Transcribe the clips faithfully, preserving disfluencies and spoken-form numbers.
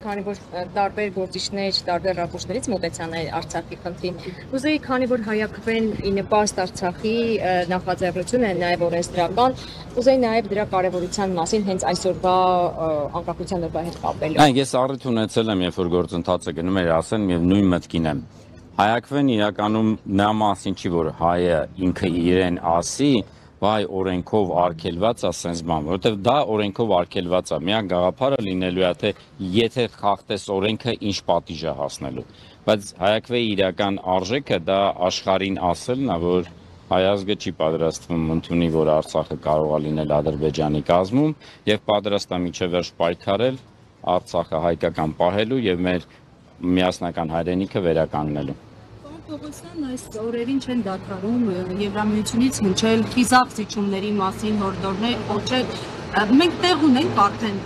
քանի որ տարբեր գործիչներ, տարբեր ռապորտներից մոտեցան Արցախի խնդրին։ Ուզեի, քանի որ հայակվեն ի նպաստ Արցախի նախաձեռնությունը, նաև օրենսդրական, ուզեի նաև դրա կարևորության մասին հենց այսօրվա անկախության օրվա հետ կապելու։ Այն ես առիթ ունեցել եմ, երբ որ գործընթացը գնում էր, ասեմ եւ նույն մտքին եմ։ Հայակվեն իրականում նա մասին չի, որ հայը ինքը իրեն ասի, վայ օրենքով արգելված է սենց բան, որովհետև դա օրենքով արգելված է, միակ գաղափարը լինելու է, թե եթե խախտես օրենքը ինչ պատիժ է հասնելու, բայց հայակվեի իրական արժեքը դա աշխարհին ասելն է, որ հայ ազգը չի պատրաստվում ընդունի, որ Արցախը կարող է լինել Ադրբեջանի կազմում եւ պատրաստ է մինչեւ վերջ պայքարել Արցախը հայկական պահելու եւ մեր միասնական հայրենիքը վերականգնելու։ Պողոսյան այս օրերին չեն դադարում Եվրամիությունից հնչել խիզախ զիջումների մասին հորդորներ, կոչել, մենք տեղ ունենք արդեն,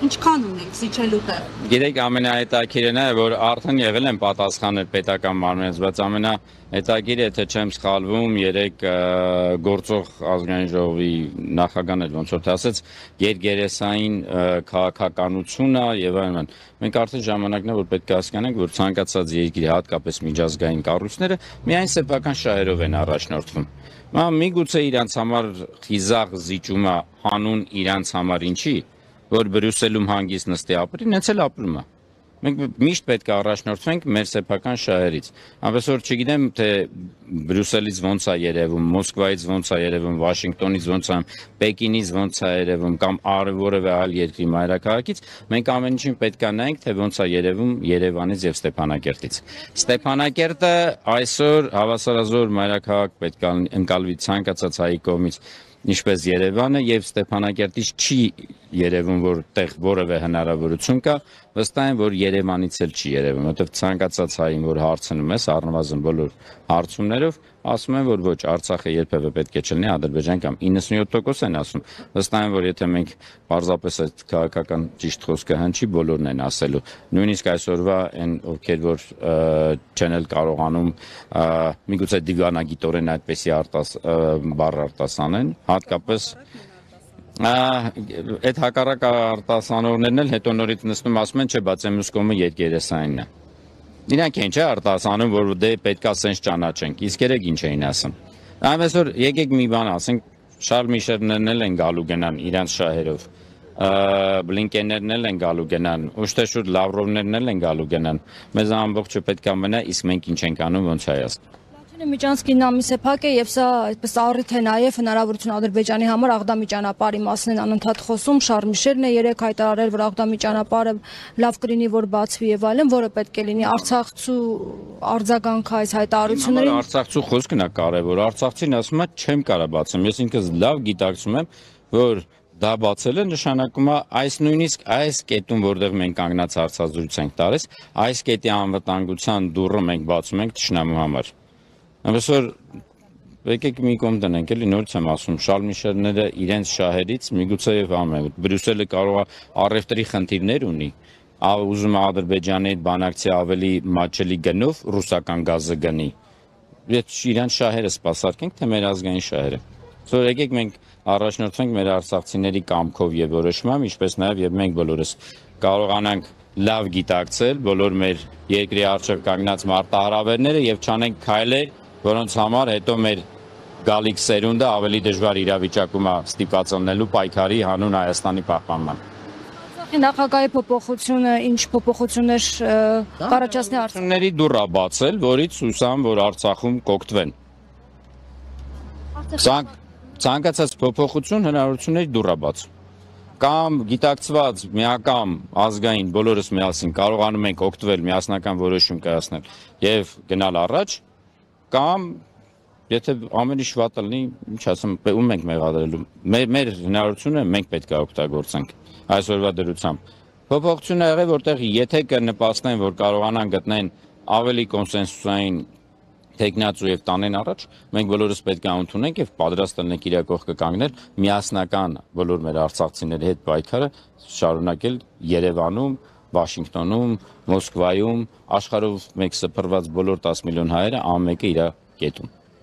ինչքան ունենք զիջելու տեղ։ Գիտեք, ամենահետաքրքիրն է, որ արդեն եղել են պատասխանել պետական մարմինից, բայց ամենահետաքրքիրը, եթե չեմ սխալվում, երեք գործող ազգային ժողովի նախագահն էլ ոնց որ ասեց, գերգերեսային քաղաքականությունը եւ այլն։ Մենք արդեն ժամանակն է, որ պետք է հասկանանք, որ ցանկացած երկրի, հատկապես միջազգային կառույցները միայն սեփական շահերով են առաջնորդվում։ Միգուցե իրանց համար խիզախ զիջումը հանուն իրանց համար ինչի, որ Բրյուսելում հանգիստ նստի ապրի, նենց էլ ապրում է։ Մենք միշտ պետք է առաջնորդվենք մեր սեփական շահերից։ Այնպես որ չգիտեմ, թե Բրյուսելից ոնց է երևում, Մոսկվայից ոնց է երևում, Վաշինգտոնից ոնց է, Պեկինից ոնց է երևում կամ որևէ այլ երկրի մայրաքաղաքից, մենք ամեն ինչին պետք է նայենք, թե ոնց է երևում Երևանից եւ Ստեփանակերտից։ Ստեփանակերտը այսօր հավասարազոր մայրաքաղաք պետք է ընկալվի ցանկացած հայի կողմից, ինչպես Երևանը, եւ Ստեփանակերտից չի երևում, որ տեղ որևէ հնարավորություն կա, վստահ եմ, որ Երևանից էլ չի երևում, որովհետեւ ցանկացած հային, որ հարցնում ես, առնվազն բոլոր հարցումներով, ասում են, որ ոչ, Արցախը երբևէ պետք է չլինի Ադրբեջան կամ իննսունյոթ տոկոս են ասում, վստահ եմ, որ եթե մենք պարզապես այդ քաղաքական ճիշտ խոսքը հնչի, բոլորն են ասելու, նույնիսկ այսօրվա այն ովքեր որ չեն էլ կարողանում միգուցե դիվանագիտորեն այդպեսի արտաս բառ արտասանեն, հատկապես այդ հակառակ արտասանողներն էլ հետո նորից նստում ասում են, չէ, բայց մյուս կողմը երկերեսայինն է։ Իրանք են չէ արտասանում, որ դե պետքա սենց ճանաչենք, իսկ երեք ինչ էին ասում։ Այնպես որ եկեք մի բան ասենք, Շարլ Միշելներն էլ են գալու գնան իրանց շահերով, Բլինկեններն էլ են գալու գնան, ուշտեշուր Լավրովներն էլ են գալու գնան, մեզ ամբողջը պետք է մնա, իսկ մենք ինչ ենք անում, ոնց հայաց։ Միջանցքին ամիսը փակ է եւ սա այդպես առիթ է նաեւ հնարավորություն Ադրբեջանի համար Աղդամի ճանապարհի մասին են անընդհատ խոսում, Շարլ Միշելն է երեք հայտարարել, որ Աղդամի ճանապարհը լավ կլինի, որ բացվի եւ այլն, որը պետք է լինի Արցախցու արձագանք այս հայտարարություններին։ Արցախցու խոսքն է կարեւոր, Արցախցին ասում է չեմ կարա բացեմ, ես ինքս լավ գիտակցում եմ, որ դա բացելը նշանակում է այս նույնիսկ այս կետում, որտեղ մենք կանգնած հարցազրույց ենք տալիս, այս կետի անվտանգության դուռը մենք բացում ենք թշնամու համար։ Այնպես որ եկեք մի կողմ դնենք, էլի նորից եմ ասում, Շարլ Միշելները իրենց շահերից միգուցե եւ ամեն, Բրյուսելը կարող է առևտրի խնդիրներ ունի, ուզում է Ադրբեջանի հետ բանակցի ավելի մատչելի գնով ռուսական գազը գնի։ Եթե իրենց շահերը սպասարկենք, թե մեր ազգային շահերը։ Որ եկեք մենք առաջնորդվենք մեր արցախցիների կամքով եւ որոշմամբ, ինչպես նաեւ եւ մենք բոլորս կարողանանք լավ գիտակցել բոլոր մեր երկրի առջև կանգնած մարտահրավերները եւ չանենք քայլեր, որոնց համար հետո մեր գալիք սերունդը ավելի դժվար իրավիճակում է ստիպված լինելու պայքարի հանուն Հայաստանի պահպանման։ Նախագահի փոփոխությունը ինչ փոփոխություններ կառաջացնի Արցախների դուռը բացել, որից հուսամ, որ Արցախում կօգտվեն։ Ցանկացած փոփոխություն հնարավորությունների դուռը բաց։ Կամ գիտակցված միակամ ազգային բոլորս միասին կարողանում ենք օգտվել միասնական որոշում կայացնել եւ գնալ առաջ, կամ եթե ամեն ինչ վատը լինի, ինչ ասեմ, ում ենք մեղադրելու։ Մեր հնարավորությունը մենք պետք է օգտագործենք այսօրվա դրությամբ։ Փոփոխությունը եղել, որտեղ եթե կնպաստեն, որ կարողանան գտնեն ավելի կոնսենսուսային թեկնածու եւ տանեն առաջ, մենք բոլորս պետք է ընդունենք եւ պատրաստ լինենք իրար կողքը կանգնել միասնական բոլոր մեր արցախցիների հետ պայքարը շարունակել Երևանում, Վաշինգտոնում, Մոսկվայում, աշխարհով մեկ սփռված բոլոր տասը միլիոն հայերը ամեն մեկը իր կետում։